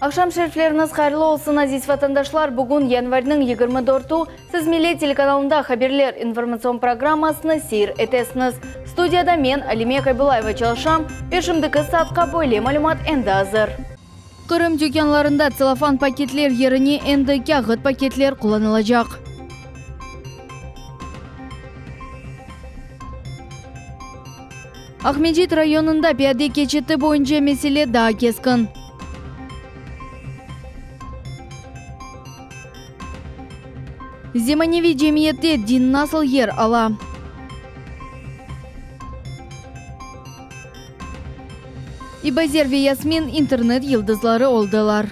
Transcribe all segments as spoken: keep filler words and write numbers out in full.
Aqşam şerifleriñiz hayırlı olsun, aziz vatandaşlar. Bugün yanvarniñ yigirmi dörtü siz Millet telekanalında haberler informatsion programmasını seyir etesiñiz. Studiyada men, Alime Kabilayeva çalışam ve şimdiki saatqa böyle malümat endi azır. Qırım tükânlarında tselofan paketler yerine endi kâğıt paketler qullanılacaq. Aqmescit rayonında piyade keçiti boyunca mesele daa keskin. Zemaneviy cemiyette din nasıl yer ala? İbazer ve Yasmin internet yıldızları oldılar.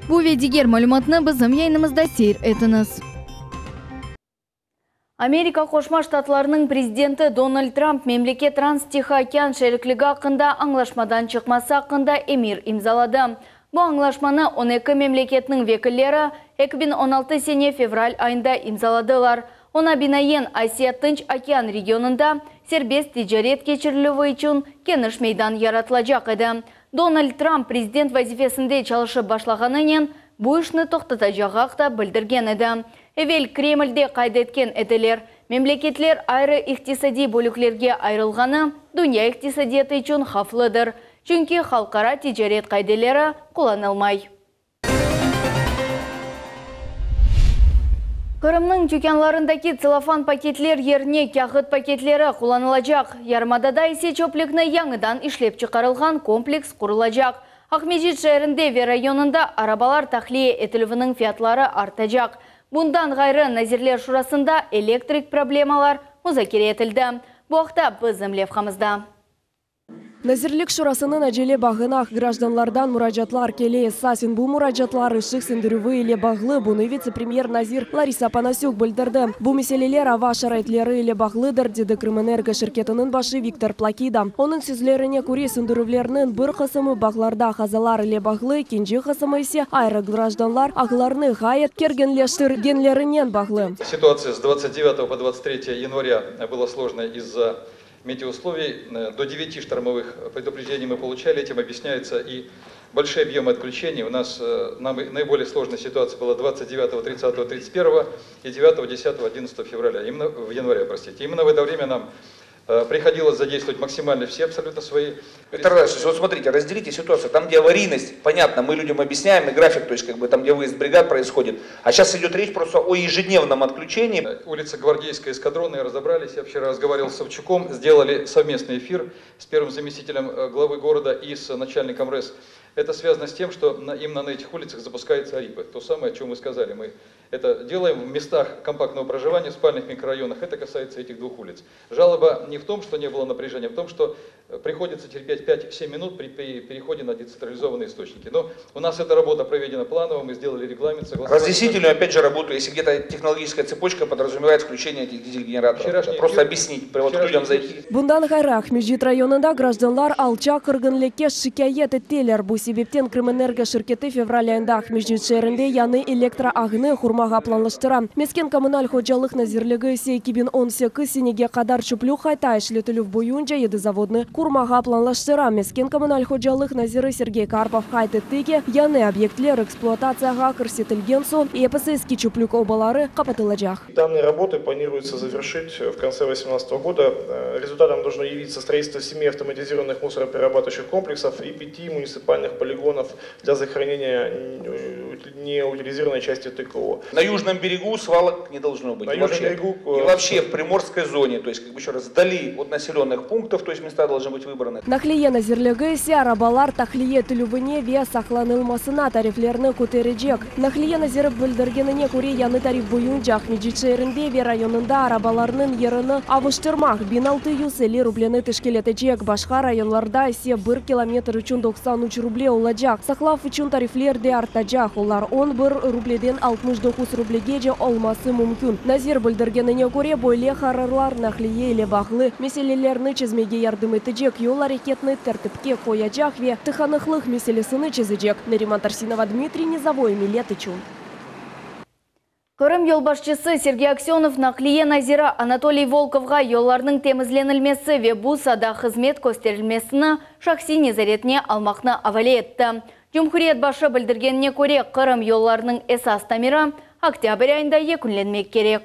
Bu ve diger malümatnı bizim yayınımızda seyir etiñiz. Amerika Qoşma Ştatlarınıñ prezidenti Donald Trump memleket Trans-Tihı okean şerikligi aqqında añlaşmadan çıqması aqqında emir imzaladı. Bu añlaşmanı on eki memleketniñ vekilleri eki biñ on altı sene fevral ayında imzaladılar. Oña binaen Asiya-Tınç okean regionında serbest ticaret keçirilüvi içün keniş meydan yaratılacaq edi. Donald Trump prezident vazifesinde çalışıp başlağanınen bu işni toqtatacağı aqta bildirgen edi. Evel Kremlde qayd etken ediler, memleketler ayrı iqtisadiy bölüklerge ayrılğanı dünya iqtisadiyatı içün havflıdır. Çünki halqara ticaret qaideleri qullanılmay. Qırımnıñ tükânlarındaki tselofan paketler yerine kâğıt paketleri qullanılacaq. Yarımadada ise çöplükni yañıdan işlep çıqarılğan kompleks qurulacaq. Aqmescit şeerinde ve rayonında arabalar tahliye etilüviniñ fiyatları artacaq. Bundan ğayrı Nazirler Şurasında elektrik problemalar muzakere etildi. Bu aqta bizim levhamızda. Nazirlik Şurasınıñ acele bağına grajdanlardan muracaatlar kele. Esasen bu muracaatlar ışıq söndürüvi ile bağlı. Bunı vitse-premyer nazir Larisa Panasük bildirdi. Bu meseleler ava şaraitleri ile bağlıdır, dedi Krımenergo şirketiniñ başı Viktor Plakida. Onıñ sözlerine köre söndürüvlerniñ bir qısımı bağlarda qazalar ile bağlı, ekinci qısımı ise ayrı grajdanlar ağlarını ğayet kerginleştirgenlerinen bağlı. Ситуация с двадцать девятого по двадцать третье января была сложной из-за метеоусловий. До девяти штормовых предупреждений мы получали, этим объясняются и большие объемы отключений. У нас наиболее сложная ситуация была двадцать девятого, тридцатого, тридцать первого и девятого, десятого, одиннадцатого февраля, именно в январе, простите. Именно в это время нам приходилось задействовать максимально все абсолютно свои. Виктор Владимирович, вот смотрите, разделите ситуацию. Там, где аварийность, понятно, мы людям объясняем, и график, то есть как бы там, где выезд бригад происходит. А сейчас идет речь просто о ежедневном отключении. Улица Гвардейская, эскадронная, разобрались. Я вчера разговаривал с Савчуком, сделали совместный эфир с первым заместителем главы города и с начальником РЭС. Это связано с тем, что на, именно на этих улицах запускаются АРИПы. То самое, о чем вы сказали. Мы это делаем в местах компактного проживания, в спальных микрорайонах. Это касается этих двух улиц. Жалоба не в том, что не было напряжения, а в том, что приходится терпеть пять-семь минут при, при переходе на децентрализованные источники. Но у нас эта работа проведена планово, мы сделали регламент. Согласовали. Разъяснительную, опять же, работу, если где-то технологическая цепочка подразумевает включение этих дизель-генераторов. Вчерашний Просто эфир, объяснить, вот людям зайти. Bundan ğayrı Aqmescit rayonında grajdanlar alçaq kirginlikke şikâyet ettiler. Bu sebepten Krımenergo şirketi fevral ayında Aqmescit şeerinde yañı elektroağnı qurmağa planlaştıra. Mesken kommunal hocalıq nazirligi ise eki biñ on sekiz senege qadar çöplük qayta işletilüv boyunca yedi zavodnı qurmağa planlaştıra. Mesken kommunal hocalıq naziri Sergey Karpov qayd etti ki, yañı obyektler ekspluatatsiyağa kirsetilgen soñ episi eski çöplük obaları qapatılacaq. Данные работы планируется завершить в конце две тысячи восемнадцатого года. Результатом должно явиться строительство семи автоматизированных мусороперерабатывающих комплексов и пяти муниципальных полигонов для захоронения неутилизированной части ТКО. На южном берегу свалок не должно быть. На И южном вообще, берегу, и вообще в приморской зоне, то есть, как бы еще раз, вдали от населенных пунктов, то есть места должны быть выбраны. Naqliye nazirligi ise arabalar tahliye etilüvine ve saqlanılmasına tariflerni köterecek. Naqliye naziri bildirgenine köre yañı tarif boyunca Aqmescit şeerinde ve rayonında arabalarnıñ yerini avuştırmaq biñ altı yüz elli rubleni teşkil etecek. Başqa rayonlarda ise bir kilometr içün doqsan üç ruble olacaq. Saqlav içün tarifler de artacaq. Olar on bir rubleden altmış doquz rublegece olması mümkün. Nazir bildirgenine köre böyle qararlar naqliye ile bağlı meselelerni çezmege yardım etecek, yol areketini tertipke qoyacaq ve tıqanıqlıq meselesini çezecek. Neriman Tarsinova, Dmitriy Nizavoy, Millet içün. Qırım yolbaşçısı Sergey Aksenov naqliye naziri Anatoliy Volkovğa yollarnıñ temizlenilmesi ve bu saada hızmet kösterilmesini şahsiy nezaretine almaqnı avale etti. Cumhuriyet başı bildirgenine köre, Qırım yollarınıñ esas tamiri oktâbr ayında yekünlenmek kerek.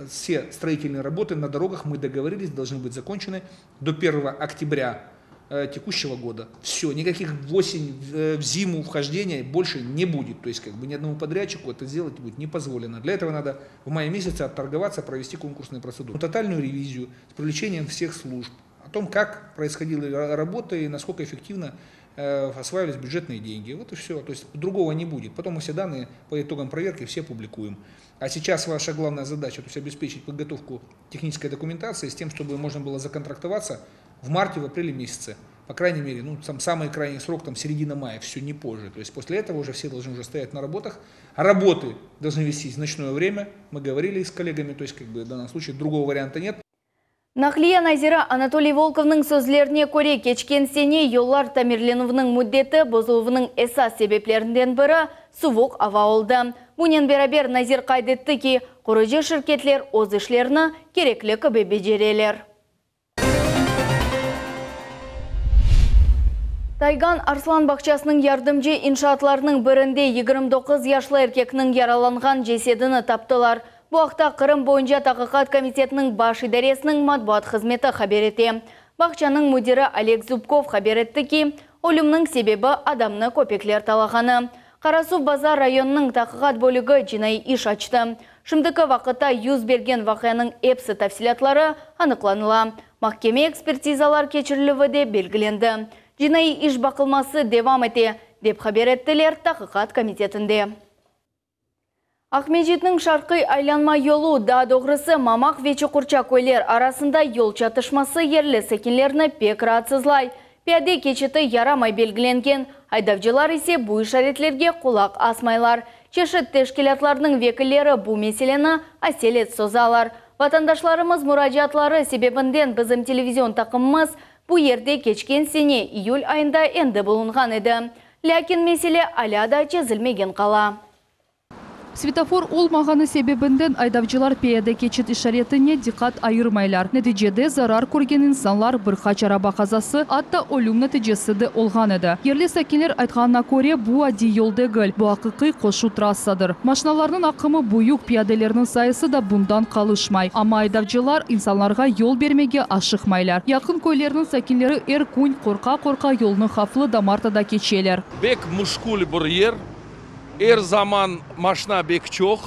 Все строительные работы на дорогах, мы договорились, должны быть закончены до первого октября э, текущего года. Все, никаких в осень, в зиму вхождения больше не будет. То есть как бы ни одному подрядчику это сделать будет не позволено. Для этого надо в мае месяце отторговаться, провести конкурсные процедуры. Тотальную ревизию с привлечением всех служб о том, как происходила работа и насколько эффективно э, осваивались бюджетные деньги. Вот и все. То есть другого не будет. Потом мы все данные по итогам проверки все публикуем. А сейчас ваша главная задача, то есть обеспечить подготовку технической документации с тем, чтобы можно было законтрактоваться в марте, в апреле месяце. По крайней мере, ну, там самый крайний срок, там середина мая, все не позже. То есть после этого уже все должны уже стоять на работах. Работы должны вестись в ночное время. Мы говорили с коллегами, то есть как бы в данном случае другого варианта нет. Naqliye naziri Anatoliy Volkovnıñ sözlerine köre, keçken sene yollar tamirlenüviniñ müddeti bozuluvınıñ esas sebeplerinden biri suvuq ava oldı. Bunen beraber nazir qayd etti ki, qurucı şirketler öz işlerini kerekli kibi becereler. Taygan Arslan bağçasınıñ yardımcı inşaatlarınıñ birinde yigirmi doquz yaşlı erkekniñ yaralanğan cesedini taptılar. Bu aqta Qırım boyunca Taqiqat komitetiniñ baş idaresiniñ matbuat hızmeti haber ete. Bağçanıñ müdiri Oleg Zubkov haber etti ki, ölümniñ sebebi adamnı köpekler talağanı. Qarasuvbazar rayonınıñ taqiqat bölügi cinaiy iş açtı. Şimdiki vaqıtta yüz bergen vaqianıñ episi tafsilâtları anıqlanıla. Mahkeme ekspertizalar keçirilüvi de belgilendi. Cinaiy iş baqılması devam ete, dep haber ettiler Taqiqat komitetinde. Aqmescitniñ şarqiy aylanma yolu, daa doğrusı Mamaq ve Çuqurça köyler arasında yol çatışması yerli sakinlerni pek raatsızlay. Piyade keçiti yaramay belgilengen, aydavcılar ise bu işaretlerge qulaq asmaylar. Çeşit teşkilâtlarnıñ vekilleri bu meseleni aselet sozalar. Vatandaşlarımız muracaatları sebebinden bizim televizion taqımımız bu yerde keçken sene iyül ayında endi bulunğan edi. Lâkin mesele alâ da çezilmegen qala. Svetofor olmağanı sebebinden aydavcılar piyade keçit işaretine diqqat ayırmaylar. Neticede zarar körgen insanlar, bir qaç araba qazası, atta ölüm neticesi de olğan edi. Yerli sakinler aytqanına köre, bu adiy yol degil, bu aqiqiy qoşu trassadır. Maşinalarnıñ aqımı büyük, piyadelerniñ sayısı da bundan qalışmay. Amma aydavcılar insanlarğa yol bermege aşıqmaylar. Yaqın köylerniñ sakinleri er kün qorqa-qorqa yolnı havflı damartıda keçeler. Bek müşkül bir yer. Er zaman maşina bek çoq.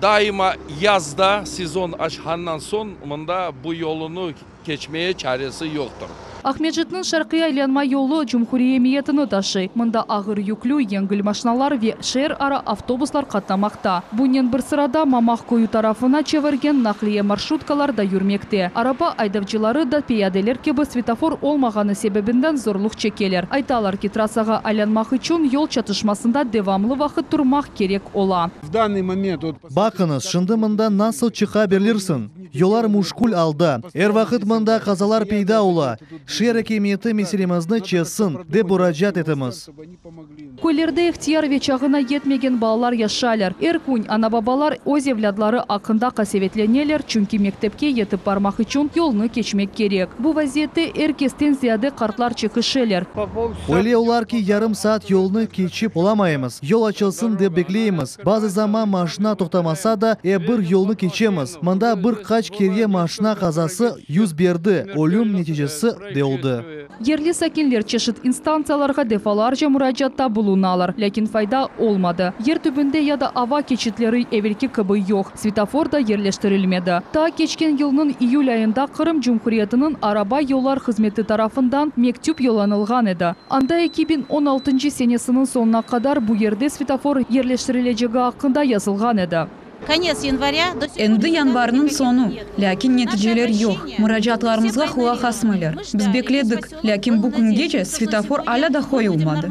Daima yazda sezon açqandan soñ mında bu yolunı keçmeye çaresi yoqtır. Aqmescitniñ şarqiy aylanma yolu cumhuriy emiyetini taşıy. Mında ağır yüklü, yengil maşinalar ve şeer ara avtobuslar qatnamaqta. Bunen bir sırada Mamaq köyü tarafına çevirgen naqliye marşrutkalar da yürmekte. Araba aydavcıları da piyadeler kibi svetofor olmağanı sebebinden zorluq çekeler. Aytalar ki, trassağa aylanmaq içün yol çatışmasında devamlı vaqıt turmaq kerek ola. В данный момент вот Baqıñız, şimdi mında nasıl çıqa bilirsiñ? Yollar müşkül alda. Er vaqıt mında qazalar peyda ola. Şeer akimiyeti meselemizni çezsin, dep muracaat etemiz. Köylerde ihtiyar ve çağına yetmegen balalar yaşaylar. Er kün ana-babalar öz evlâtları aqqında qasevetleneler, çünki mektepke yetip barmaq içün yolnı keçmek kerek. Bu vaziyette er kesten ziyade qartlar çekişeler. Öyle ola ki, yarım saat yolnı keçip olamaymız. Yol açılsın dep bekleymiz. Bazı zaman maşina toqtamasa da, ep bir yolnı keçemiz. Mında bir qaç kere maşina qazası yüz berdi. Ölüm neticesi de oldı. Yerli sakinler çeşit instantsiyalarğa defalarca muracaatta bulunalar. Lâkin fayda olmadı. Yer tübünde ya da ava keçitleri evelki kibi yoq. Svetofor da yerleştirilmedi. Taa keçken yılnıñ iyül ayında Qırım Cumhuriyetiniñ araba yollar hızmeti tarafından mektüp yollanılğan edi. Anda eki biñ on altıncı senesiniñ soñuna qadar bu yerde svetofor yerleştirilecegi aqqında yazılğan edi. Конец января. Endi yanvarniñ soñu, lâkin neticeler yoq. Muracaatlarımızğa qulaq asmaylar. Biz bekledik, lâkin bu küngece svetofor alâ da qoyulmadı.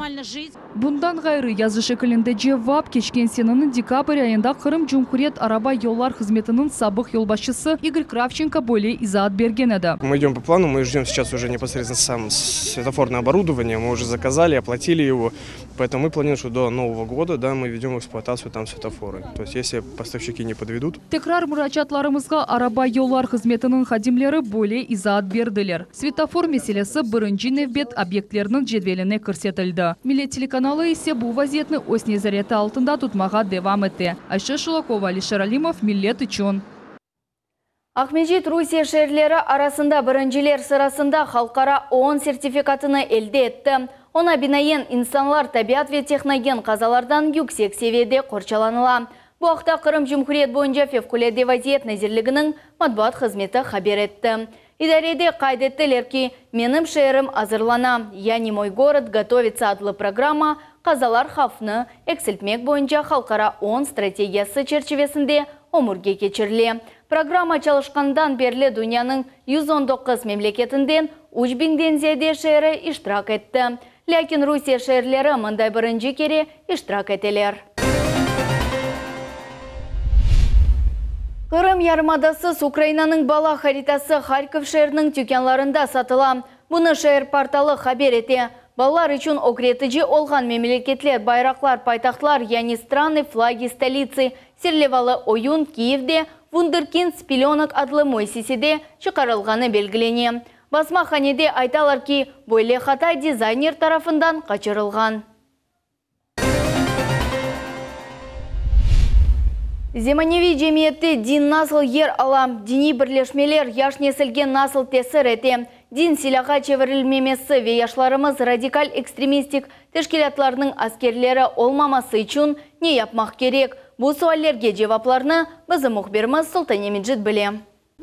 Bundan ğayrı yazı şekilinde cevap keçken seneniñ dekabr ayında Qırım Cumhuriyet araba yollar hızmetiniñ sabıq yolbaşçısı İgor Kravçenko böyle izaat bergen edi. Мы идем по плану, мы ждем сейчас уже непосредственно сам светофорное оборудование, мы уже заказали, оплатили его, поэтому мы планируем, что до Нового года, да, мы введем в эксплуатацию там светофоры. То есть если построить Поставщики не подведут. Tekrar muracaatlarımızğa araba yollar hızmetiniñ hadimleri böyle izaat berdiler. Svetofor meselesi birinci nevbet obyektleriniñ cedveline kirsetildi. Millet telekanalı ise bu vaziyetni öz nezareti altında tutmağa devam ete. Ayşe Şulakova, Alişer Alimov, Millet içün. Aqmescit Rusiye şeerleri arasında birinciler sırasında halqara O O N sertifikatını elde etti. Oña binaen insanlar tabiat ve tehnogen qazalardan yüksek seviyede qorçalanıla. Bu aqta Qırım Cumhuriyet boyunca Fevqulâde vaziyet nazirliginiñ matbuat hızmeti haber etti. İdarede qayd ettiler ki, Menim şeerim azırlana, yani Мой город готовится adlı programma qazalar havfını eksiltmek boyunca halqara O O N strategiyası çerçivesinde ömürge keçirile. Programma çalışqandan berli dünyanıñ yüz on doquz memleketinden üç biñden ziyade şeeri iştirak etti. Lâkin Rusiye şeerleri mınday birinci kere iştirak eteler. Qırım yarımadasız Ukrainanıñ bala haritası Harkov şeeriniñ tükânlarında satıla. Bunı şeer portalı haber ete. Balalar içün ögretici olğan memleketler, bayraqlar, paytahtlar, yani Stranı, flagi, stoliцы serlevalı oyun Kiyevde Wunderkind Spilönok adlı müessisede çıqarılğanı belgilene. Basmahanede aytalar ki, böyle hata dizayner tarafından qaçırılğan. Zemaneviy cemiyette din nasıl yer ala, diniy birleşmeler yaş nesilge nasıl tesir ete, din silâğa çevirilmemesi ve yaşlarımız radikal ekstremistik teşkilâtlarnıñ askerleri olmaması içün ne yapmaq kerek? Bu suallerge cevaplarnı bizim mühbirimiz Sultane Mecit bile.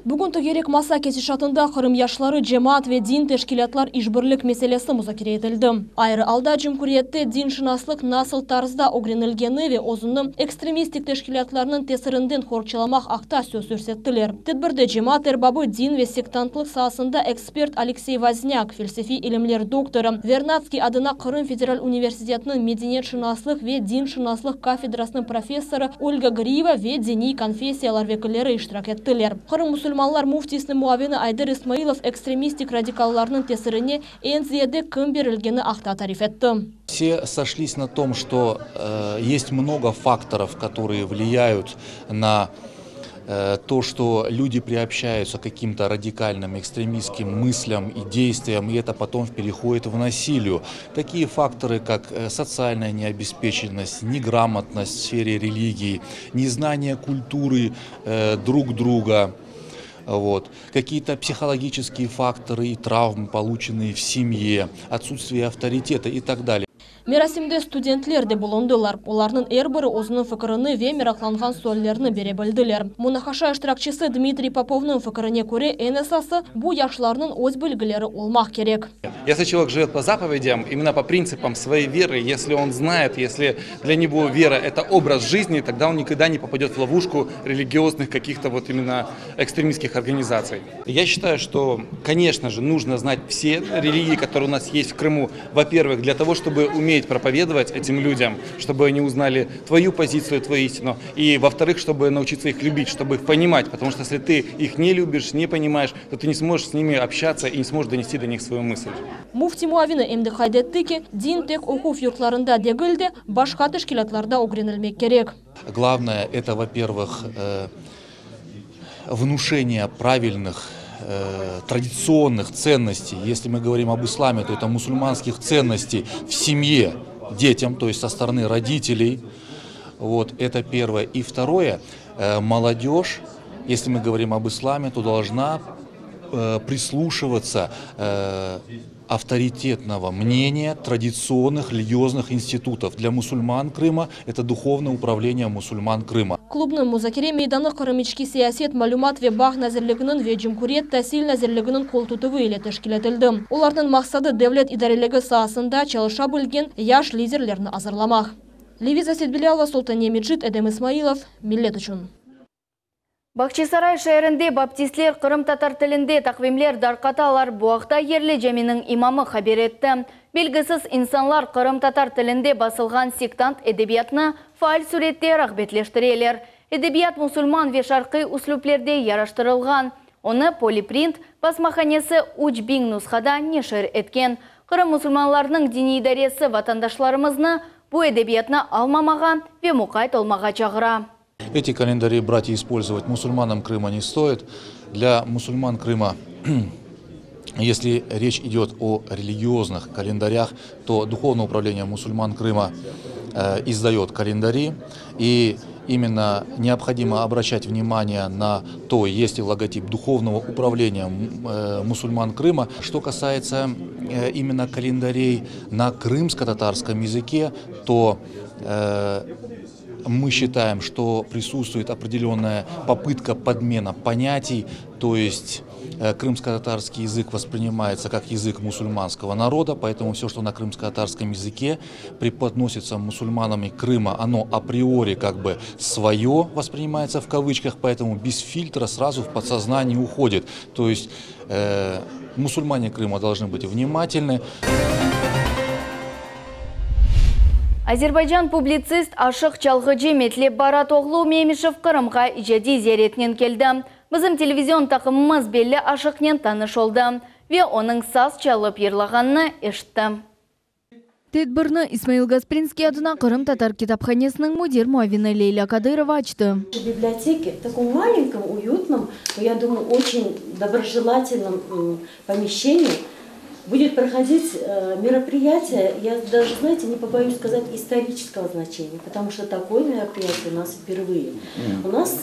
Bugün tögerek masa ketişatında Qırım yaşları, cemaat ve din teşkilâtlar işbirlik meselesi muzakere etildi. Ayrı alda cumhuriyette dinşınaslıq nasıl tarzda ögrenilgeni ve özüni ekstremistik teşkilâtlarnıñ tesirinden qorçalamaq aqta söz yürsettiler. Tedbirde cemaat erbabı, din ve sektantlıq saasında ekspert Aleksey Voznâk, felsefiy ilimler doktorı, Vernadskiy adına Qırım Federal Universitetiniñ medeniyetşınaslıq ve dinşınaslıq kafedrasınıñ professorı Olga Griyeva ve diniy konfessiyalar vekilleri iştirak ettiler. Qırım musulmanlar müftisiniñ muavini Ayder İsmailov ekstremistik radikallarnıñ tesirine eñ ziyade kim berilgeni aqta tarif etti. Все сошлись на том, что, э, есть много факторов, которые влияют на, э, то, что люди приобщаются к каким-то радикальным экстремистским мыслям и действиям, и это потом переходит в насилие. Такие факторы, как, э, социальная необеспеченность, неграмотность в сфере религии, незнание культуры, э, друг друга, вот, какие-то психологические факторы и травмы, полученные в семье, отсутствие авторитета и так далее. Merasimde studentler de bulundılar. Olarnıñ er biri özüniñ fikirini ve meraqlanğan suallerini bere bildiler. Munaqaşa iştirakçisi Dmitriy Popovnıñ fikirine köre eñ esası bu yaşlarnıñ öz bilgileri olmaq kerek. Если человек живет по заповедям, именно по принципам своей веры, если он знает, если для него вера — это образ жизни, тогда он никогда не попадет в ловушку религиозных каких-то вот именно экстремистских организаций. Я считаю, что, конечно же, нужно знать все религии, которые у нас есть в Крыму. Во-первых, для того, чтобы уметь проповедовать этим людям, чтобы они узнали твою позицию, твою истину. И, во-вторых, чтобы научиться их любить, чтобы их понимать. Потому что если ты их не любишь, не понимаешь, то ты не сможешь с ними общаться и не сможешь донести до них свою мысль. Müfti muavini em de qayd etti ki, din tek oquv yurtlarında degil de, başqa teşkilâtlarda ögrenilmek kerek. Главное, это, во-первых, э, внушение правильных, э, традиционных ценностей. Если мы говорим об исламе, то это мусульманских ценностей в семье детям, то есть со стороны родителей. Вот, это первое. И второе, э, молодежь, если мы говорим об исламе, то должна, э, прислушиваться, э, авторитетного мнения традиционных религиозных институтов. Для мусульман Крыма это духовное управление мусульман Крыма. Klubnıñ muzakere meydanı Qırım içki siyaset, malümat ve bağ nazirliginiñ ve Cumhuriyet tasil nazirliginiñ qol tutuvı ile teşkil etildi. Olarnıñ maqsadı devlet idareligi saasında çalışa bilgen yaş liderlerni azırlamaq. Leviza Setbilâlova, Sultaniye Mecit, Edem İsmailov, Millet içün. Bağçasaray şeerinde baptistler qırımtatar tilinde taqvimler darqatalar. Bu aqta yerli caminiñ imamı haber etti. Belgisiz insanlar qırımtatar tilinde basılğan sektant edebiyatını faal surette rağbetleştireler. Edebiyat musulman ve şarqiy üslüplerde yaraştırılğan. Onı Poliprint basmahanesi üç biñ nusxada neşir etken. Qırım musulmanlarınıñ diniy idaresi vatandaşlarımıznı bu edebiyatnı almamağa ve muqayt olmağa çağıra. Эти календари брать и использовать мусульманам Крыма не стоит. Для мусульман Крыма, если речь идет о религиозных календарях, то Духовное управление мусульман Крыма э, издает календари, и именно необходимо обращать внимание на то, есть ли логотип Духовного управления э, мусульман Крыма. Что касается э, именно календарей на крымско-татарском языке, то э, мы считаем, что присутствует определенная попытка подмена понятий, то есть э, крымско-татарский язык воспринимается как язык мусульманского народа, поэтому все, что на крымско-татарском языке преподносится мусульманами Крыма, оно априори как бы свое воспринимается в кавычках, поэтому без фильтра сразу в подсознание уходит. То есть э, мусульмане Крыма должны быть внимательны. Azerbaycan publitsist aşıq çalğıcı Metlep Baratoğlu Memişev Qırımğa icadiy ziyaretinen keldi. Bizim televizion taqımımız belli aşıqnen tanış oldı ve onıñ saz çalıp yırlağanını eşitti. Tedbirni İsmail Gasprinskiy adına Qırımtatar kitaphanesiniñ müdir muavini Leyla Kadırova açtı. В библиотеке, в таком маленьком, уютном, но, я думаю, очень доброжелательном помещении будет проходить э, мероприятие, я даже, знаете, не побоюсь сказать, исторического значения, потому что такое мероприятие у нас впервые. У нас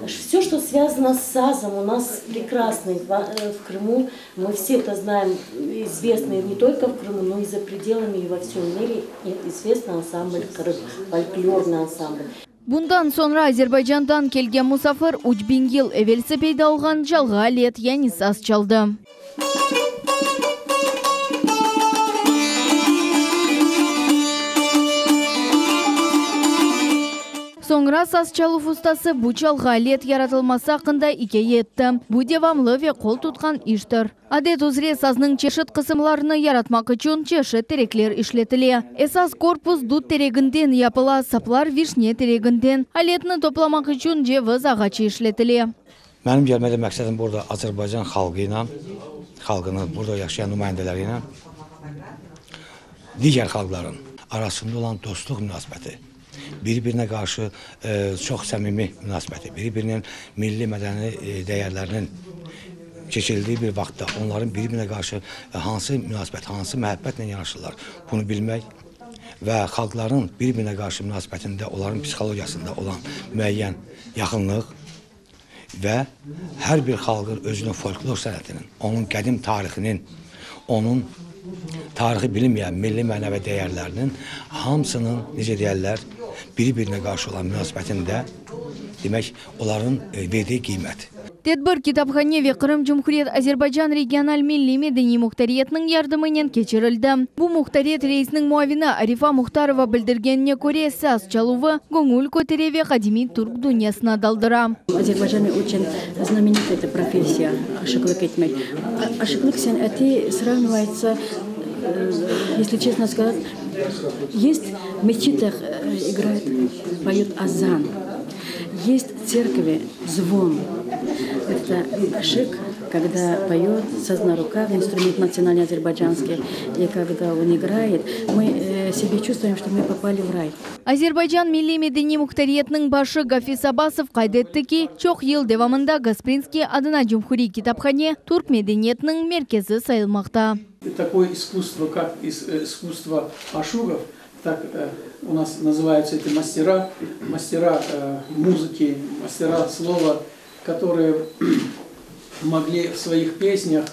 все, что связано с сазом, у нас прекрасный в, э, в Крыму, мы все это знаем, известный не только в Крыму, но и за пределами, и во всем мире известный ансамбль «Крым», фольклорный ансамбль. Bundan soñra Azerbaycandan kelgen musafir üç biñ yıl evelsi peyda olğan çalğı alet, yani saz çaldı. Soñra saz çaluv ustası bu çalğı alet yaratılması aqqında ikâye etti. Bu devamlı ve qol tutqan iştir. Adet üzre saznıñ çeşit qısımlarını yaratmaq içün çeşit terekler işletile. Esas korpus dut tereginden yapıla, saplar vişne tereginden. Aletni toplamaq içün ceviz ağaçı işletile. Mənim gəlməkdə məqsədim burada Azərbaycan xalqı ilə, xalqının burada yaşayan nümayəndələri ilə digər xalqların arasında olan dostluq münasibəti, bir-birinə qarşı e, çox səmimi münasibəti, bir-birinin milli mədəni e, dəyərlərinin keçirildiyi bir vaxtda onların bir-birinə qarşı hansı münasibət, hansı məhəbbətlə yanaşırlar, bunu bilmək və xalqların bir-birinə qarşı münasibətində, onların psixologiyasında olan müəyyən yaxınlıq və hər bir xalqın özünün folklor sənətinin, onun qədim tarixinin, onun tarixi bilinməyən milli mənəvi dəyərlərinin hamısının, necə deyərlər, bir-birinə qarşı olan münasibətində, demək, onların verdiyi qiymət. Tedbir kitaphane ve Qırım Cumhuriyet Azerbaycan regional milliy medeniy muhtariyetiniñ yardımınen keçirildi. Bu muhtariyet reisiniñ muavini Arifa Muhtarova bildirgenine köre, saz çaluvı göñül kötere ve qadimiy türk dünyasına daldıra. В Азербайджане очень знаменита эта профессия aşıqlıq etmek. Aşıqlıq sanatı сравнивается, если честно сказать, есть в мечетях играют, поют азан, есть в церкви звон. Это aşıq, когда поет саз на руках, инструмент национальный азербайджанский, и когда он играет, мы себе чувствуем, что мы попали в рай. Azerbaycan milliy medeniy muhtariyetiniñ başı Gafiz Abbasov qayd etti ki, çoq yıl devamında Gasprinskiy adına Cumhuriy kitaphane türk medeniyetiniñ merkezi sayılmaqta. Такое искусство, как искусство ашугов, так у нас называются эти мастера, мастера музыки, мастера слова, которые могли в своих песнях,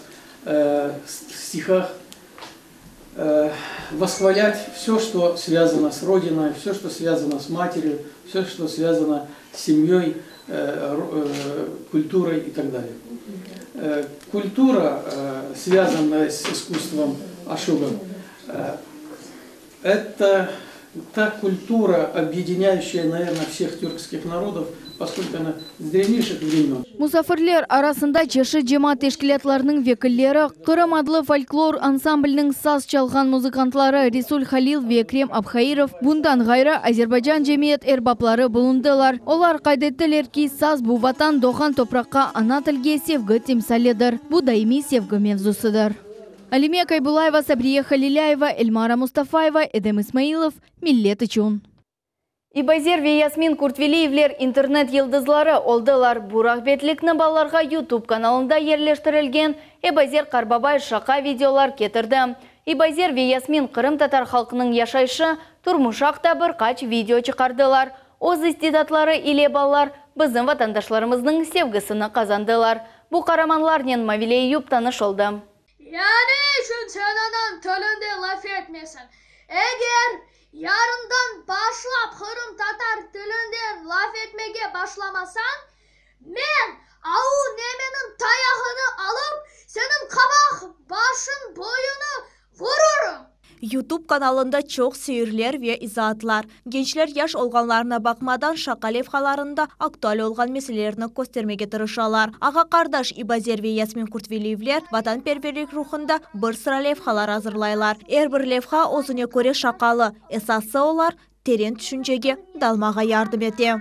стихах восхвалять все, что связано с Родиной, все, что связано с матерью, все, что связано с семьей, культурой и так далее. Культура, связанная с искусством ашугов, это та культура, объединяющая, наверное, всех тюркских народов, поскольку она с древнейших времен. Musafirler arasında çeşit cemaat teşkilâtlarınıñ vekilleri, Qırım adlı folklor ansambliniñ saz çalğan muzıkantları Resul Halil ve Ekrem Abhairov, bundan ğayrı Azerbaycan cemiyet erbapları bulundılar. Olar qayd ettiler ki, saz bu vatan doğğan topraqqa, ana tilge sevgi timsalidir. Bu daimiy sevgi mevzusıdır. Alime Kaybulayeva, Sabriye Halilâyeva, Elmara Mustafayeva, Edem İsmailov, Millet içün. İbazer ve Yasmin Kurtveliyevler internet yıldızları oldılar. Bu rağbetlikni balalarğa YouTube kanalında yerleştirilgen Ebazer Qarbabay şaqa videolar ketirdi. İbazer ve Yasmin qırımtatar halqınıñ yaşayışı, turmuşı aqta bir qaç video çıqardılar. Öz istidatları ile balalar bizim vatandaşlarımıznıñ sevgisini qazandılar. Bu qaramanlarnen Mavile Eyüp tanış oldı. Ya ne içün sen anañ tilinde laf etmeysiñ? Eger yarından başlap qırımtatar tilinde laf etmege başlamasañ, men avu nemeniñ tayağını alıp, seniñ qabaq başıñ boyuna vururım. YouTube kanalında çoq seyirler ve izaatlar. Gençler yaş olğanlarına baqmadan şaqa levhalarında aktual olğan meselelerni köstermege tırışalar. Ağa-qardaş İbazer ve Yasmin Kurtveliyevler vatanperverlik ruhunda bir sıra levhalar azırlaylar. Er bir levha özüne köre şaqalı. Esası olar teren tüşüncege dalmağa yardım ete.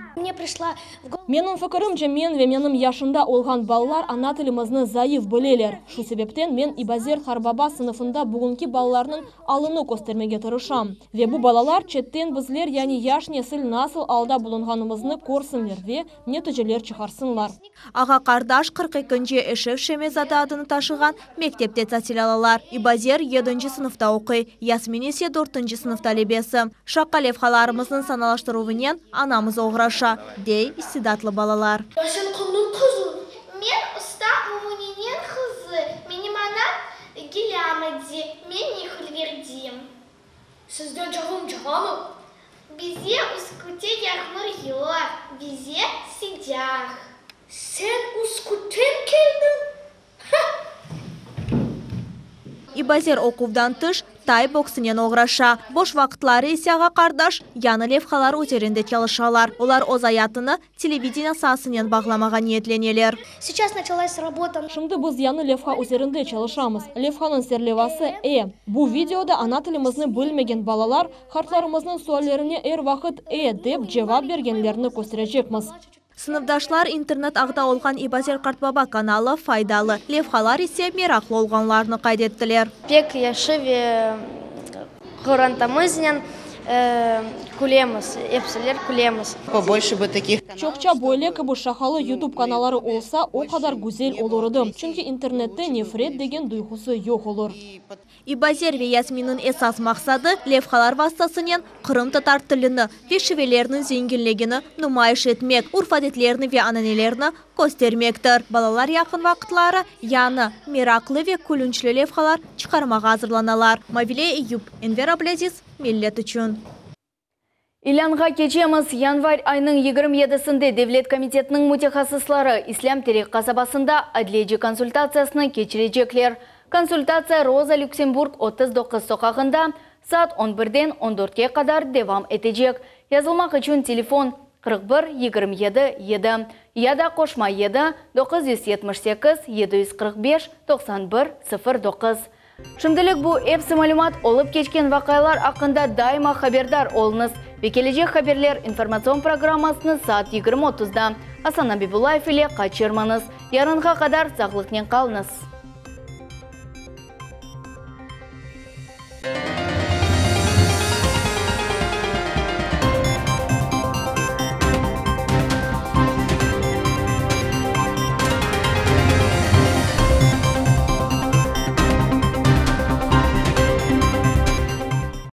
Menim fikirimce, men ve menim yaşımda olğan balalar ana tilimizni zayıf bileler. Şu sebepten men İbazer Qarbaba sınıfında bugünki balalarnıñ alını köstermege tırışam. Ve bu balalar çetten bizler, yani yaş nesil nasıl alda bulunğanımıznı körsinler ve neticeler çıqarsınlar. Ağa-qardaş qırq ekinci Eşref Şemi-zade adını taşığan mektepte tasil alalar. İbazer yedinci sınıfta oquy, Yasmin ise dörtünci sınıf talebesi. Şaqa levhalarımıznıñ sanalaştıruvınen anamız oğraşa, dey istidatlı balalar. Sen kimniñ qızı? Men usta Mumuneniñ qızı. Menim anam Gilâmadi, men Nihulverdiyim. Sizde yağmur yağamı? Bize Üskütte yağmur yoq, bize sıcaq. Sen Üskütten keldiñ? Ha! İbazer oquvdan tış tay boksınen oğraşa. Boş vaqıtları ise ağa-qardaş yañı levhalar üzerinde çalışalar. Olar öz ayatını televideniye saasınen bağlamağa niyetleneler. Сейчас началась работа. Şimdi biz yañı levha üzerinde çalışamız. Levhanıñ serlevhası E. Bu videoda ana tilimizni bilmegen balalar qartlarımıznıñ suallerine er vaqıt E dep cevap bergenlerini kösterecekmiz. Sınıfdaşlar internet ağda olğan İbazer Qartbaba kanalı faydalı, levhalar ise meraqlı olğanlarını qayd ettiler. Pek yahşı ve qorantamıznen külemiz, episiler külemiz. Побольше бы таких. Çoqça böyle kibi şaqalı YouTube kanalları olsa, o qadar güzel olur edi. Çünki internette nefret degen duyğusı yoq olur. İbazer ve Yasminniñ esas maqsadı levhalar vastasınen qırımtatar tilini ve şiveleriniñ zenginligini numayış etmek, urf-adetlerini ve ananelerni köstermektir. Balalar yaqın vaqıtları yañı, meraqlı ve külünçli levhalar çıqarmağa azırlanalar. Mavile Eyüp, Enver Ablâziz, Millet içün. İlânğa keçemiz. Yanvar ayınıñ yigirmi yedisinde Devlet komitetiniñ mütehassısları İslâm Terek qasabasında adliyeci konsultatsiyasını keçirecekler. Konsultatsiya Roza Lüksemburg otuz doquz soqağında saat on birden on dörtke qadar devam etecek. Yazılmaq içün telefon qırq bir yigirmi yedi yedi ya da qoşma yedi doquz yüz yetmiş sekiz yedi yüz qırq beş doqsan bir sıfır doquz. Şimdilik bu episi malümat. Olıp keçken vaqialar aqqında daima haberdar oluñız ve kelecek haberler informatsion programmasını saat yigirmi otuzda Asan Abibullayev ile qaçırmañız. Yarınğa qadar sağlıqnen qalıñız.